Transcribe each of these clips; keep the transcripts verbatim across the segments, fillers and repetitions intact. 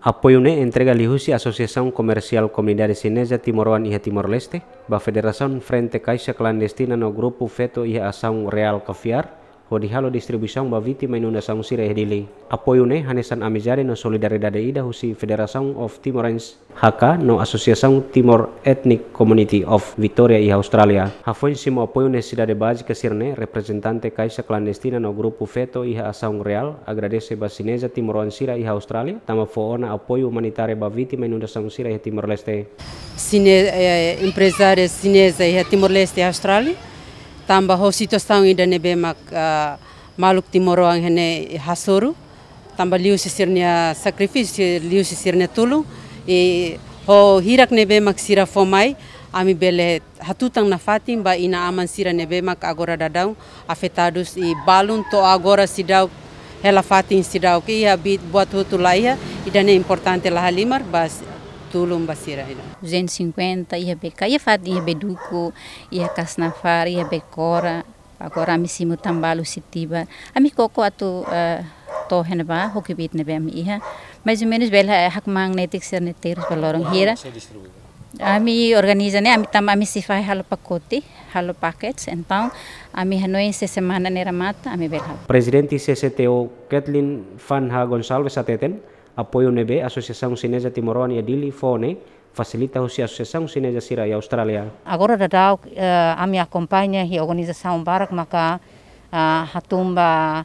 Apoiu ne'e entrega liuhusi Asosiasaun Komersiál Komunidade Xineza Timoroan iha Timor-Leste ba Federasaun Frente Kaixa Klandestina no Grupu Feto iha Asaun Reál Kaviar, hodi halo distribuisaun ba vítima inundasaun sira iha Dili. Apoiu ne'e hanesan amizade no solidariedade ida husi Federation of Timorans, H K, no Asosiasaun Timor Ethnic Community of Victoria iha Austrália. Hafoin simu apoiu nesesidade bázika sira-ne'e, reprezentante Kaixa Klandestina no Grupu Feto iha Asaun Reál agradese ba Xineza Timoroan sira iha Austrália, tanba fó ona apoiu umanitáriu ba vítima inundasaun sira iha Timor-Leste. Xine-, eh, emprezáriu xineza iha Timor-Leste, Austrália, tanba ho situasaun ida ne'ebé mak, ah, maluk timoroan iha ne'e hasoru, tanba liuhusi sira-nia sakrifísiu, liuhusi sira-nia tulun, i ho hirak ne'ebé mak sira fó mai, ami bele hatutan nafatin ba inan-aman sira ne'ebé mak agora daudaun afetadus i balun to'o agora seidauk hela fatin, seidauk iha, bit buat hotu la iha, ida-ne'e importante la halimar ba s-, tulun ba sira ida. Duzentos e cinquenta, iha Beka, iha fatin, iha Beduku, iha Kasnafar, iha Bekora. Agora ami simu tan balu Sitiba. Ami koko atu, eh, to'o iha ne'ebá, ho kbiit ne'ebé ami iha. Mais ou menus bele, eh, hakmaan netik sira-ne'e terus ba loron hira. Ami organiza ne'e, ami tanba ami sei fahe halo pakote, halo packets. Entaun, ami hanoin se semana ne'e remata, ami bele halo. Prezidente C C T O Kathleen Van Ha Gonçalves hateten, apoiu ne'ebé Asosiasaun Xineza Timoroan iha Dili fó ne'e fasilita husi asosiasaun xineza sira iha Austrália. Agora daudaun, eh, ami akompaña iha organizasaun barak maka, ah, hatún ba,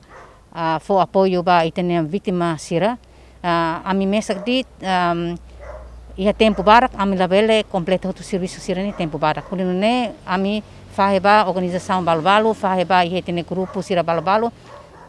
ah, fó apoiu ba ita-nia vítima sira. Ah, ami mesak de'it, ehm, iha tempu badak, ami labele kompleta hotu servisu sira-ne'e tempu badak. Hodi nune'e ami fahe ba organizasaun balu-balu, fahe ba iha ita-nia grupu sira balu-balu,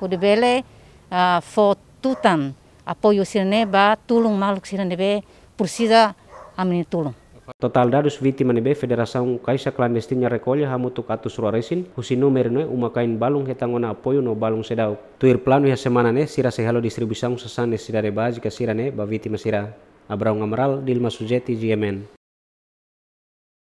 hodi bele, ah, fó tutan apoiu sira-ne'e ba tulun maluk sira ne'ebé presiza ami-nia tulun. Totál dadus vítima ne'ebé Federasaun Kaixa Klandestina rekolla hamutuk atus rua resin, husi númeru ne'e uma-kain balun hetan ona apoiu no balun seidauk. Tuir planu iha semana ne'e, sira sei halo distribuisaun sasán nesesidade bázika sira-ne'e ba vítima sira. Abraão Amaral, Dilma Sujeti, G M N.